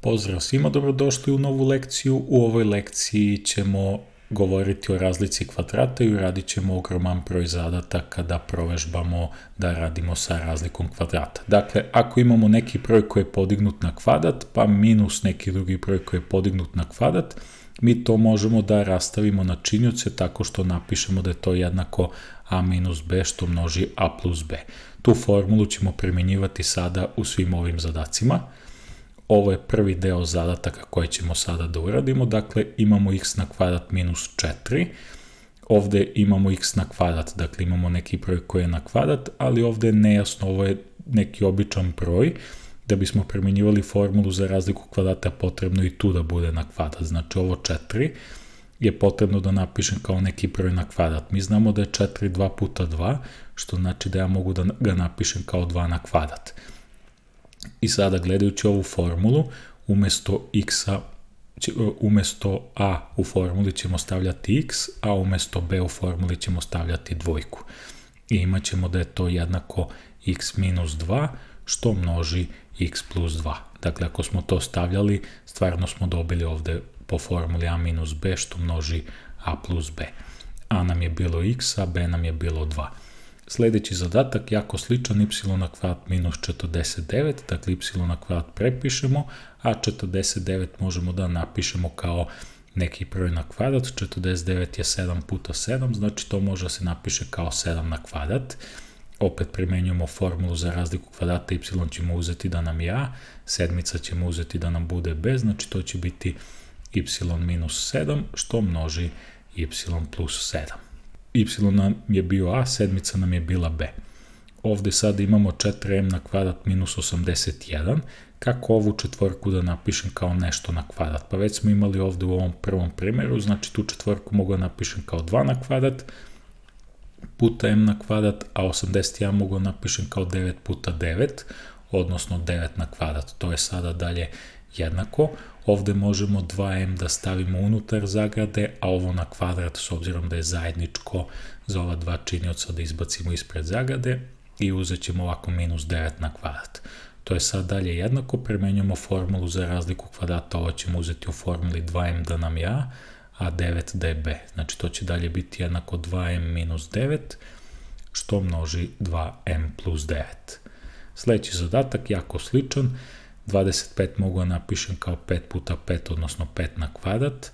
Pozdrav svima, dobrodošli u novu lekciju. U ovoj lekciji ćemo govoriti o razlici kvadrata i uradit ćemo ogroman broj zadataka da provežbamo da radimo sa razlikom kvadrata. Dakle, ako imamo neki broj koji je podignut na kvadrat, pa minus neki drugi broj koji je podignut na kvadrat, mi to možemo da rastavimo na činioce tako što napišemo da je to jednako a minus b što množi a plus b. Tu formulu ćemo primjenjivati sada u svim ovim zadacima. Ovo je prvi deo zadataka koje ćemo sada da uradimo, dakle imamo x na kvadrat minus 4, ovde imamo x na kvadrat, dakle imamo neki broj koji je na kvadrat, ali ovde je nejasno, ovo je neki običan broj, da bismo primjenjivali formulu za razliku kvadrata potrebno i tu da bude na kvadrat, znači ovo 4 je potrebno da napišem kao neki broj na kvadrat. Mi znamo da je 4 2 puta 2, što znači da ja mogu da ga napišem kao 2 na kvadrat. I sada gledajući ovu formulu, umesto a u formuli ćemo stavljati x, a umesto b u formuli ćemo stavljati dvojku. I imat ćemo da je to jednako x minus 2 što množi x plus 2. Dakle, ako smo to stavljali, stvarno smo dobili ovde po formuli a minus b što množi a plus b. A nam je bilo x, a b nam je bilo 2. Sljedeći zadatak, jako sličan, y na kvadrat minus 49, dakle y na kvadrat prepišemo, a 49 možemo da napišemo kao neki broj na kvadrat, 49 je 7 puta 7, znači to može da se napiše kao 7 na kvadrat. Opet primenjujemo formulu za razliku kvadrata, y ćemo uzeti da nam je a, sedmica ćemo uzeti da nam bude b, znači to će biti y minus 7 što množi y plus 7. Y nam je bio a, sedmica nam je bila b. Ovde sada imamo 4m na kvadrat minus 81. Kako ovu četvorku da napišem kao nešto na kvadrat? Pa već smo imali ovde u ovom prvom primjeru, znači tu četvorku mogu da napišem kao 2 na kvadrat puta m na kvadrat, a 81 mogu da napišem kao 9 puta 9, odnosno 9 na kvadrat. To je sada dalje jednako. Ovde možemo 2m da stavimo unutar zagrade, a ovo na kvadrat, s obzirom da je zajedničko za ova dva činioca, da izbacimo ispred zagrade i uzet ćemo ovako minus 9 na kvadrat. To je sad dalje jednako, primenjujemo formulu za razliku kvadrata, ovo ćemo uzeti u formuli 2m da nam je a, a 9 da je b. Znači to će dalje biti jednako 2m minus 9, što množi 2m plus 9. Sljedeći zadatak, jako sličan, 25 mogu da napišem kao 5 puta 5, odnosno 5 na kvadrat,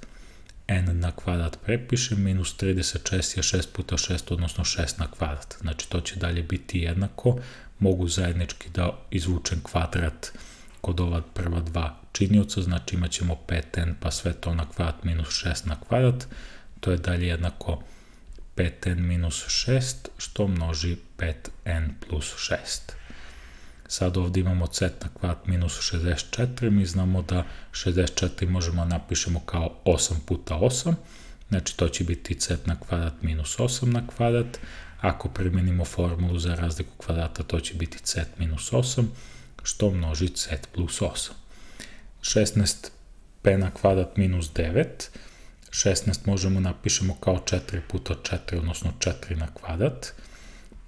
n na kvadrat prepišem, minus 36 je 6 puta 6, odnosno 6 na kvadrat. Znači to će dalje biti jednako, mogu zajednički da izvučem kvadrat kod ova prva dva činioca, znači imat ćemo 5n pa sve to na kvadrat minus 6 na kvadrat, to je dalje jednako 5n minus 6 što množi 5n plus 6. Sad ovdje imamo c na kvadrat minus 64, mi znamo da 64 možemo napišemo kao 8 puta 8, znači to će biti c na kvadrat minus 8 na kvadrat, ako primjenimo formulu za razliku kvadrata to će biti c minus 8, što množi c plus 8. 16p na kvadrat minus 9, 16 možemo napišemo kao 4 puta 4, odnosno 4 na kvadrat,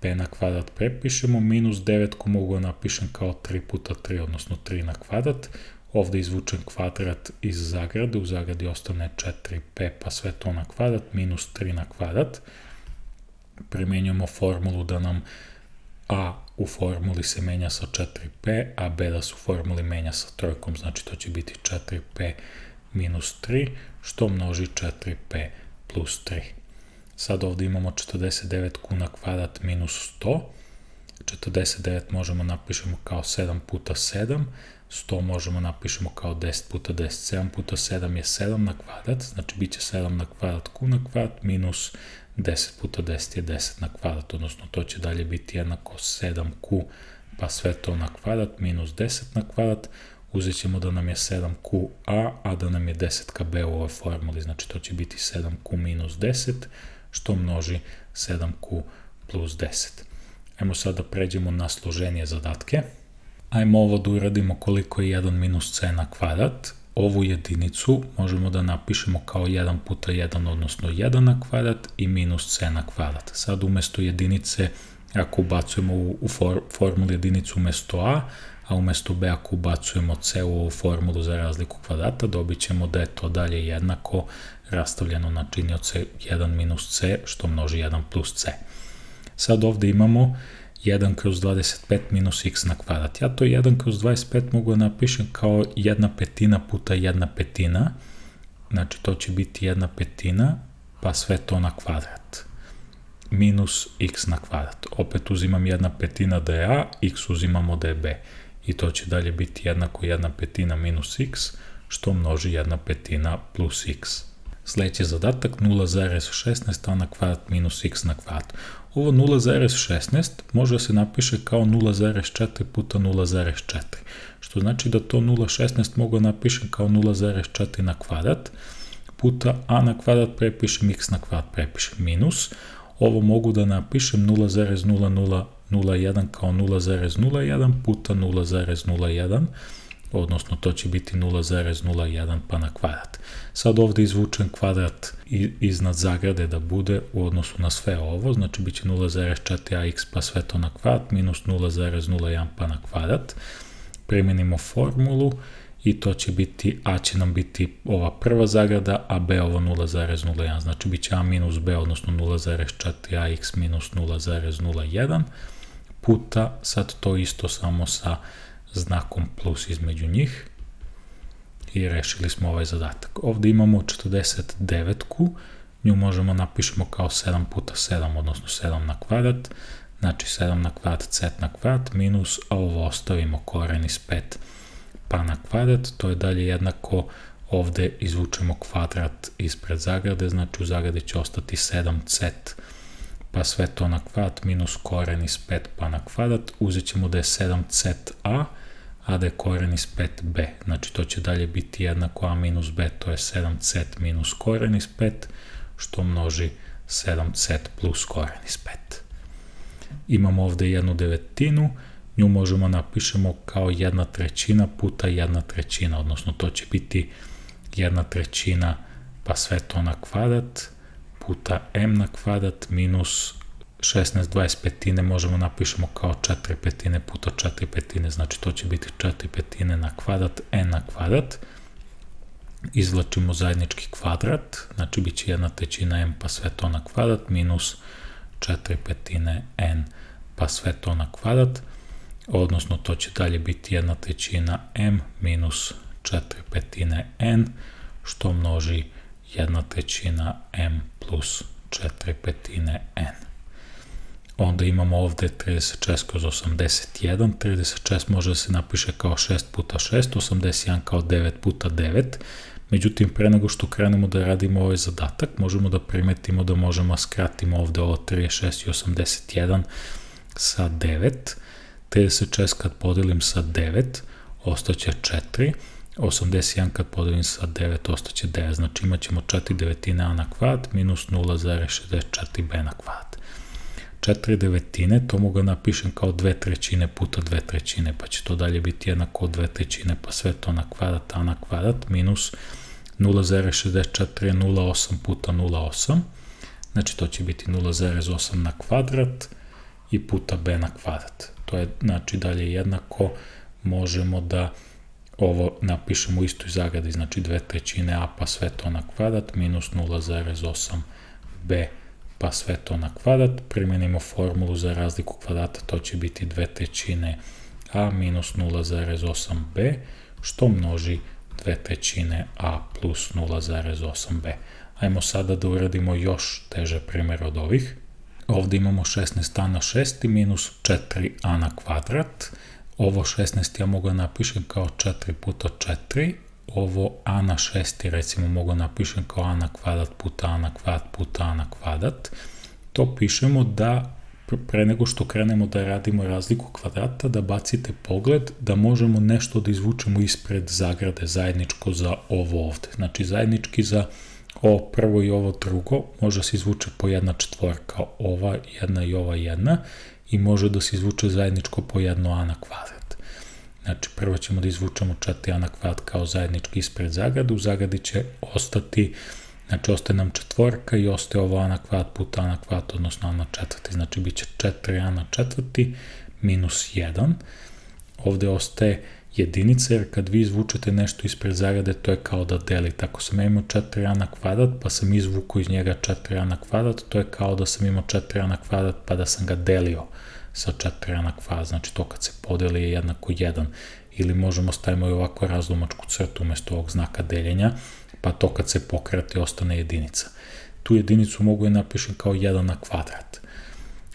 p na kvadrat prepišemo, minus 9 ko mogu da napišem kao 3 puta 3, odnosno 3 na kvadrat, ovde izvučem kvadrat iz zagrade, u zagradi ostane 4p pa sve to na kvadrat, minus 3 na kvadrat, primenjujemo formulu da nam a u formuli se menja sa 4p, a b da se u formuli menja sa trojkom, znači to će biti 4p minus 3, što množi 4p plus 3. Sad ovdje imamo 49q na kvadrat minus 100, 49 možemo napišemo kao 7 puta 7, 100 možemo napišemo kao 10 puta 10, 7 puta 7 je 7 na kvadrat, znači bit će 7 na kvadrat q na kvadrat minus 10 puta 10 je 10 na kvadrat, odnosno to će dalje biti jednako 7q pa sve to na kvadrat minus 10 na kvadrat, uzet ćemo da nam je 7qa, a da nam je 10kb u ovoj formuli, znači to će biti 7q minus 10, što množi 7q plus 10. Ajmo sad da pređemo na složenije zadatke. Ajmo ovo da uradimo koliko je 1 minus c na kvadrat. Ovu jedinicu možemo da napišemo kao 1 puta 1, odnosno 1 na kvadrat i minus c na kvadrat. Sad umesto jedinice, ako ubacujemo u formulu jedinicu umesto a umjesto b ako ubacujemo c u ovu formulu za razliku kvadrata, dobit ćemo da je to dalje jednako rastavljeno na činioce 1 minus c, što množi 1 plus c. Sad ovdje imamo 1 kroz 25 minus x na kvadrat. Ja to 1 kroz 25 mogu napišem kao 1/5 puta 1/5. Znači to će biti 1/5 pa sve to na kvadrat. Minus x na kvadrat. Opet uzimam 1/5 da je a, x uzimamo da je b. I to će dalje biti jednako 1/5 minus x, što množi 1/5 plus x. Sljedeći zadatak 0,16 a na kvadrat minus x na kvadrat. Ovo 0,16 može se napiše kao 0,4 puta 0,4, što znači da to 0,16 mogu napišem kao 0,4 na kvadrat, puta a na kvadrat prepišem, x na kvadrat prepišem, minus. Ovo mogu da napišem 0,0001 kao 0,01 puta 0,01, odnosno to će biti 0,01 pa na kvadrat. Sad ovdje izvučem kvadrat iznad zagrade da bude u odnosu na sve ovo, znači bit će 0,4ax pa sve to na kvadrat minus 0,01 pa na kvadrat. Primjenimo formulu i to će biti, a će nam biti ova prva zagrada, a b ovo 0,01, znači bit će a minus b, odnosno 0,4ax minus 0,01 puta, sad to isto samo sa znakom plus između njih i rešili smo ovaj zadatak. Ovdje imamo 49-ku, nju možemo napišemo kao 7 puta 7, odnosno 7 na kvadrat, znači 7 na kvadrat, c na kvadrat, minus, a ovo ostavimo koren iz 5 pa na kvadrat, to je dalje jednako, ovdje izvučemo kvadrat ispred zagrade, znači u zagradi će ostati 7c pa sve to na kvadrat minus koren iz 5 pa na kvadrat, uzet ćemo da je 7ca, a da je koren iz 5b, znači to će dalje biti jednako a minus b, to je 7c minus koren iz 5, što množi 7c plus koren iz 5. Imamo ovdje 1/9, nju možemo napišemo kao 1/3 puta 1/3, odnosno to će biti 1/3 pa sve to na kvadrat, puta m na kvadrat minus 16/25 možemo napišemo kao 4/5 puta 4/5, znači to će biti 4/5 na kvadrat, n na kvadrat. Izvlačimo zajednički kvadrat, znači bit će 1/3 m pa sve to na kvadrat minus 4/5 n pa sve to na kvadrat, odnosno to će dalje biti 1/3 m minus 4/5 n, što množi 1/3 m plus 4/5 n. Onda imamo ovdje 36 kroz 81, 36 može da se napiše kao 6 puta 6, 81 kao 9 puta 9, međutim pre nego što krenemo da radimo ovaj zadatak, možemo da primetimo da možemo skratimo ovdje ovo 36 i 81 sa 9, 36 kad podelim sa 9, ostaće 4, 81 kad podelim sa 9, ostaće 9, znači imat ćemo 4/9 a na kvadrat minus 0,64b na kvadrat. 4/9, to mogu napišem kao 2/3 puta 2/3, pa će to dalje biti jednako od 2/3 pa sve to na kvadrat, a na kvadrat minus 0,64 je 0,8 puta 0,8, znači to će biti 0,8 na kvadrat i puta b na kvadrat. To je znači dalje jednako, možemo da ovo napišemo u istoj zagradi, znači 2/3 a pa sve to na kvadrat minus 0,8 b pa sve to na kvadrat, primjenimo formulu za razliku kvadrata, to će biti 2/3 a minus 0,8 b, što množi 2/3 a plus 0,8 b. Ajmo sada da uradimo još teže primjer od ovih. Ovdje imamo 16a na 6 minus 4a na kvadrat. Ovo 16 ja mogu napišem kao 4 puta 4, ovo a na 6 recimo mogu napišem kao a na kvadrat puta a na kvadrat puta a na kvadrat. To pišemo da pre nego što krenemo da radimo razliku kvadrata, da bacite pogled da možemo nešto da izvučemo ispred zagrade zajedničko za ovo ovdje. Znači zajednički za ovo prvo i ovo drugo može se izvuče po jedna četvorka, ova jedna i ova jedna, i može da se izvuče zajedničko po jedno a na kvadrat. Znači prvo ćemo da izvučemo 4a na kvadrat kao zajednički ispred zagrade, u zagradi će ostati, znači ostaje nam četvorka i ostaje ovo a na kvadrat puta a na kvadrat, odnosno a na četvrti, znači bit će 4a na četvrti minus 1, ovdje ostaje jedinica, jer kad vi izvučete nešto ispred zagrade, to je kao da delite. Ako sam imao 4a na kvadrat, pa sam izvukao iz njega 4a na kvadrat, to je kao da sam imao 4a na kvadrat, pa da sam ga delio sa 4a na kvadrat. Znači to kad se podeli je jednako 1. Ili možemo stavimo i ovako razlomačku crtu umjesto ovog znaka deljenja, pa to kad se pokrati ostane jedinica. Tu jedinicu mogu je napišem kao 1 na kvadrat.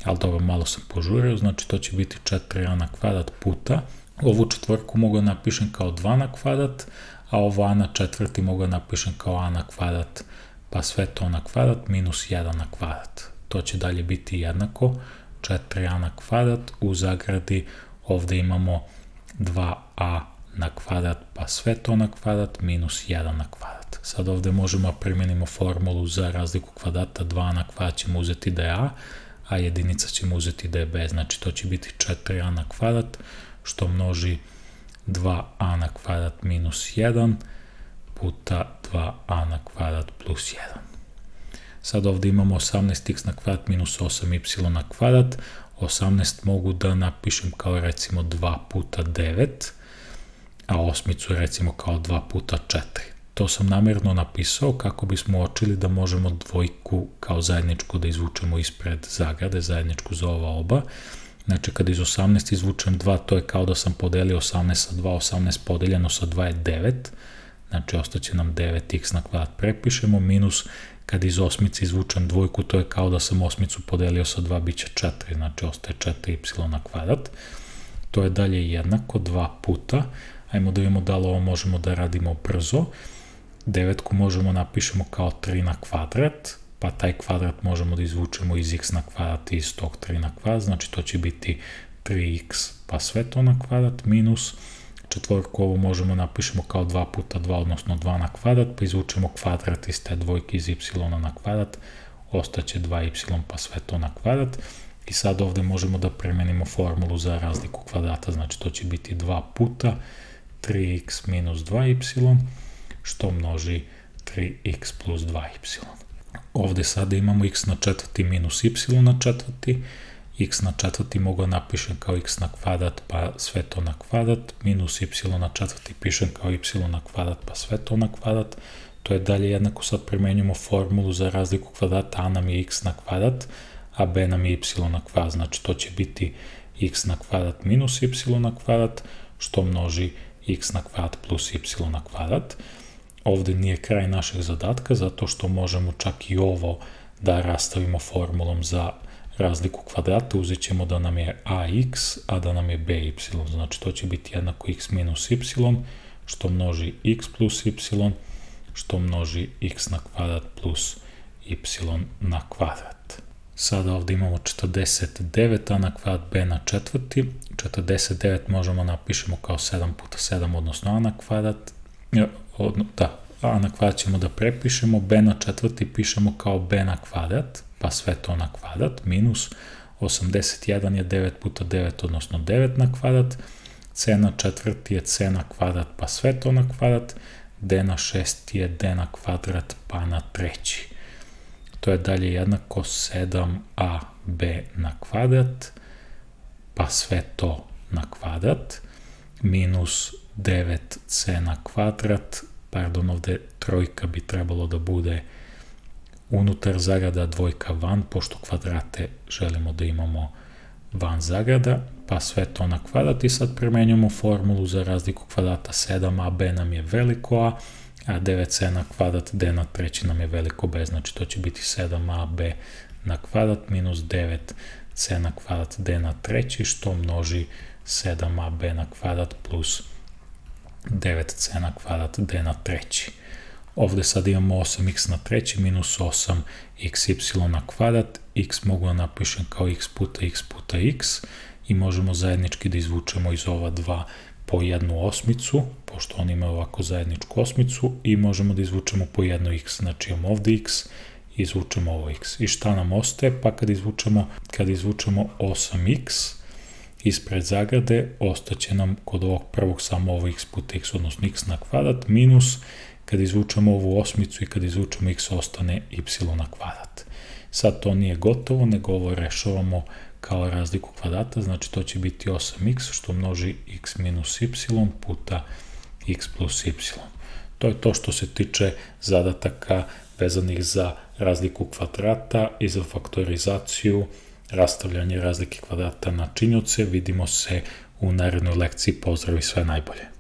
Ali dobro, malo sam požurio, znači to će biti 4a na kvadrat puta. Ovu četvorku mogu napišem kao 2 na kvadrat, a ovo a na četvrti mogu napišem kao a na kvadrat, pa sve to na kvadrat minus 1 na kvadrat. To će dalje biti jednako 4a na kvadrat, u zagradi ovdje imamo 2a na kvadrat, pa sve to na kvadrat minus 1 na kvadrat. Sad ovdje možemo primijenimo formulu za razliku kvadrata, 2 na kvadrat ćemo uzeti da je a jedinica ćemo uzeti da je b, znači to će biti 4a na kvadrat, što množi 2a na kvadrat minus 1 puta 2a na kvadrat plus 1. Sad ovdje imamo 18x na kvadrat minus 8y na kvadrat. 18 mogu da napišem kao recimo 2 puta 9, a osmicu recimo kao 2 puta 4. To sam namjerno napisao kako bismo uočili da možemo dvojku kao zajedničku da izvučemo ispred zagrade, zajedničku za ova oba. Znači kad iz 18 izvučem 2, to je kao da sam podelio 18 sa 2, 18 podeljeno sa 2 je 9, znači ostaće nam 9x na kvadrat, prepišemo, minus kad iz osmice izvučem dvojku, to je kao da sam osmicu podelio sa 2, bit će 4, znači ostaje 4y na kvadrat. To je dalje jednako 2 puta, ajmo da vidimo da li ovo možemo da radimo brzo. 9 možemo napišemo kao 3 na kvadrat, pa taj kvadrat možemo da izvučemo iz x na kvadrat i iz tog 3 na kvadrat, znači to će biti 3x pa sve to na kvadrat minus četvorku, ovo možemo napišemo kao 2 puta 2, odnosno 2 na kvadrat, pa izvučemo kvadrat iz te dvojke iz y na kvadrat, ostaće 2y pa sve to na kvadrat. I sad ovdje možemo da premenimo formulu za razliku kvadrata, znači to će biti 2 puta 3x minus 2y, što množi 3x plus 2y. Ovdje sada imamo x na četvrti minus y na četvrti, x na četvrti mogu napišem kao x na kvadrat pa sve to na kvadrat, minus y na četvrti pišem kao y na kvadrat pa sve to na kvadrat. To je dalje jednako, sad primenjujemo formulu za razliku kvadrata, a nam je x na kvadrat, a b nam je y na kvadrat, znači to će biti x na kvadrat minus y na kvadrat, što množi x na kvadrat plus y na kvadrat. Ovdje nije kraj našeg zadatka, zato što možemo čak i ovo da rastavimo formulom za razliku kvadrata, uzet ćemo da nam je ax, a da nam je by, znači to će biti jednako x minus y, što množi x plus y, što množi x na kvadrat plus y na kvadrat. Sada ovdje imamo 49a na kvadrat b na četvrti, 49 možemo napišemo kao 7 puta 7, odnosno a na kvadrat, a na kvadrat ćemo da prepišemo, b na četvrti pišemo kao b na kvadrat, pa sve to na kvadrat, minus 81 je 9 puta 9, odnosno 9 na kvadrat, c na četvrti je c na kvadrat, pa sve to na kvadrat, d na šesti je d na kvadrat, pa na treći. To je dalje jednako 7ab na kvadrat, pa sve to na kvadrat, minus 9c na kvadrat, pardon, ovdje trojka bi trebalo da bude unutar zagrada, dvojka van, pošto kvadrate želimo da imamo van zagrada, pa sve to na kvadrat. I sad primenjujemo formulu za razliku kvadrata, 7ab nam je veliko a, a 9c na kvadrat, d na treći nam je veliko b, znači to će biti 7ab na kvadrat minus 9c na kvadrat, d na treći, što množi 7ab na kvadrat plus 9c na kvadrat, d na treći. Ovdje sad imamo 8x na treći minus 8xy na kvadrat, x mogu da napišem kao x puta x i možemo zajednički da izvučemo iz ova dva po jednu osmicu, pošto oni imaju ovako zajedničku osmicu, i možemo da izvučemo po jednu x, znači imamo ovdje x i izvučemo ovo x. I šta nam ostaje? Pa kad izvučemo 8x ispred zagrade, ostaće nam kod ovog prvog samo ovo x puta x, odnosno x na kvadrat, minus kad izvučemo ovu osmicu i kad izvučemo x ostane y na kvadrat. Sad to nije gotovo, nego ovo rešavamo kao razliku kvadrata, znači to će biti 8x što množi x minus y puta x plus y. To je to što se tiče zadataka vezanih za razliku kvadrata i za faktorizaciju, rastavljanje razlike kvadrata na činioce. Vidimo se u narednoj lekciji. Pozdrav i sve najbolje.